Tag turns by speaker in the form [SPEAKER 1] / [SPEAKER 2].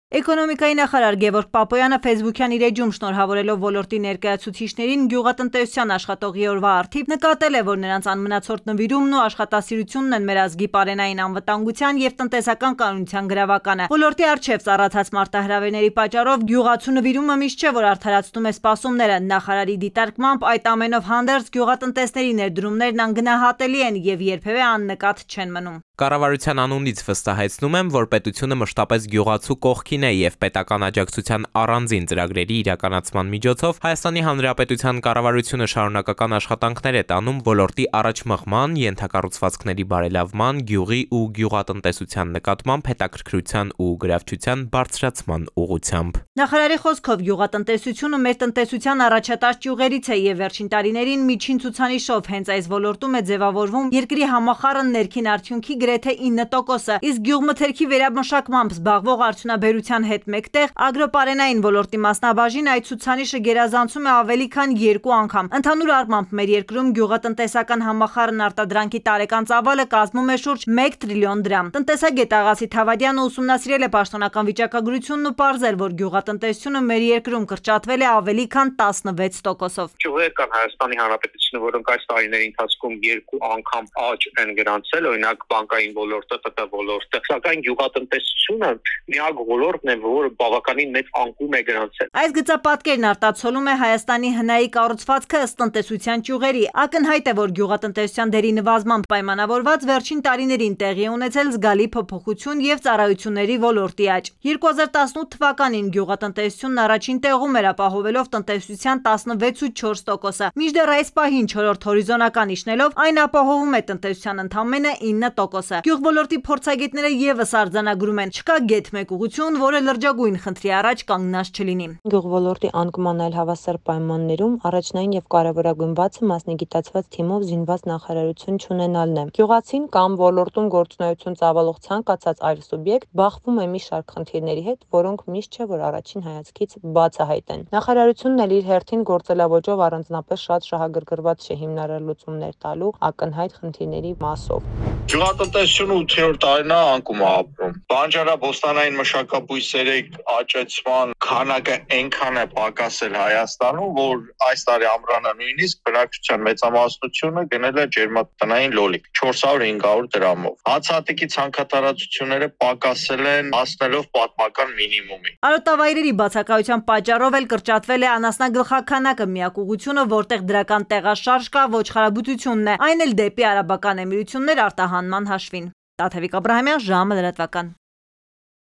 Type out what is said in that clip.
[SPEAKER 1] Էկոնոմիկայի նախարար Գևորգ Պապոյանը Facebook-յան իր էջում շնորհավորելով ոլորտի ներկայացուցիչներին գյուղատնտեսության աշխատողի օրվա առթիվ նկատել է, որ նրանց անմնացորդ նվիրումն ու աշխատասիրությունն են մեր ազգի պարենային անվտանգության եւ տնտեսական կանոնության գրավականը։ Ոլորտի առջև ծառացած մարտահրավերների պատճառով գյուղացու նվիրումը միշտ չէ, որ արդարացնում է սպասումները։ Նախարարի դիտարկմամբ այդ ամենով հանդերձ գյուղատնտեսների ներդրումներն անգնահատելի են եւ երբեւե աննկատ չեն մնում։
[SPEAKER 2] Կառավարության անունից վստահեցնում եմ, որ պետությունը մշտապես գյուղացու կողքին է եւ պետական աջակցության առանձին ծրագրերի իրականացման միջոցով Հայաստանի Հանրապետության կառավարությունը շարունակական աշխատանքներ է տանում ոլորտի առաջմղման, ենթակառուցվածքների բարելավման, գյուղի ու գյուղատնտեսության նկատմամբ հետաքրքրության ու գրավչության բարձրացման ուղղությամբ։
[SPEAKER 1] Նախարարի խոսքով գյուղատնտեսությունը մեր տնտեսության առաջատար ճյուղերից է եւ վերջին տարիներին միջին ցուցանիշով հենց այս ոլորտում է ձևավորվում երկրի համախառն ներքին արդյունքի գրեթե 9%-ը, իսկ գյուղմթերքի վերամշակմամբ զբաղվող արդյունաբերության հետ մեկտեղ ագրոպարենային ոլորտի մասնաբաժին այդ ցուցանիշը գերազանցում է ավելի քան 2 անգամ։ Ընդհանուր առմամբ մեր երկրում գյուղատնտեսական համախառն արտադրանքի տարեկան ծավալը կազմում է շուրջ 1 տրիլիոն դրամ։ Տնտեսագետ Աղասի Թավադյանը ուսումնասիրել է պաշտոնական վիճակագրությունն ու պարզել, որ գյուղատնտեսությունը մեր երկրում կրճատվել է ավելի քան 16%-ով։
[SPEAKER 3] Ճյուղեր կան Հայաստանի Հանրապետությունը, որոնք այս տարիների ընթացքում 2 անգամ աճ են գրանցել, օրինակ բանկային ոլորտը, ՏՏ ոլորտը, սակայն գյուղատնտեսությունը միակ ոլորտն է, որը բավականին մեծ անկում է գրանցել։
[SPEAKER 1] Այս գծապատկերն արտացոլում է Հայաստանի հնայի կառուցվածքը ըստ տնտեսության ճյուղերի։ Ակնհայտ է, որ գյուղատնտեսության դերի նվազմամբ պայմանավորված վերջին տարիներին տեղի է ունեցել զգալի փոփոխություն եւ ծառայությունների ոլորտի աճ։ 2018 թվականին գյուղատնտեսությունն առաջին տեղում էր ապահովելով տնտեսության 16.4%-ը։ Մինչդեռ այս պահին 4-րդ հորիզոնական իջնելով այն ապահովում է տնտեսության ընդամենը 9%-ը։ Գյուղոլորտի փորձագետները եւս արձանագրում են, չկա գեթ մեկ ուղղություն, որը լրջագույն խնդրի առաջ կանգնած չլինի։
[SPEAKER 4] Գյուղոլորտի անկման այլ հավասար պայմաններում առաջնային եւ կարեւորագույն բացը մասնագիտացված թիմով զինված նախարարություն չունենալն է։ Գյուղացին կամ ոլորտում գործունեություն ծավալող ցանկացած այլ սուբյեկտ բախվում է մի շարք խնդիրների հետ, որոնք միշտ չէ որ առաջին հայացքից բացահայտ են։ Նախարարությունն էլ իր հերթին գործելավոճով առանձնապես շատ շահագրգռված չէ հիմնարար լուծումներ տալու ակնհայտ խնդիրների մասով։
[SPEAKER 5] Գյուղատնտեսությունը 8-րդ տարին է անկում է ապրում։ Բանջարաբոստանային մշակաբույսերի աճեցման քանակը այնքան է պակասել Հայաստանում, որ այս տարի ամռանը նույնիսկ բնակչության մեծամասնությունը գնել է ջերմատնային լոլիկ 400-500 դրամով։ Հացահատիկի ցանքատարածությունները պակասել են հասնելով պատմական մինիմումի։
[SPEAKER 1] Արոտավայրերի բացակայության պատճառով էլ կրճատվել է անասնագլխաքանակը, միակ ուղղությունը, որտեղ դրական տեղաշարժ կա, ոչխարաբուծությունն է, այն էլ դեպի Արաբական Էմիրություններ արտահանման հաշվին։ Տաթևիկ Աբրահամյան, ժամը լրատվական։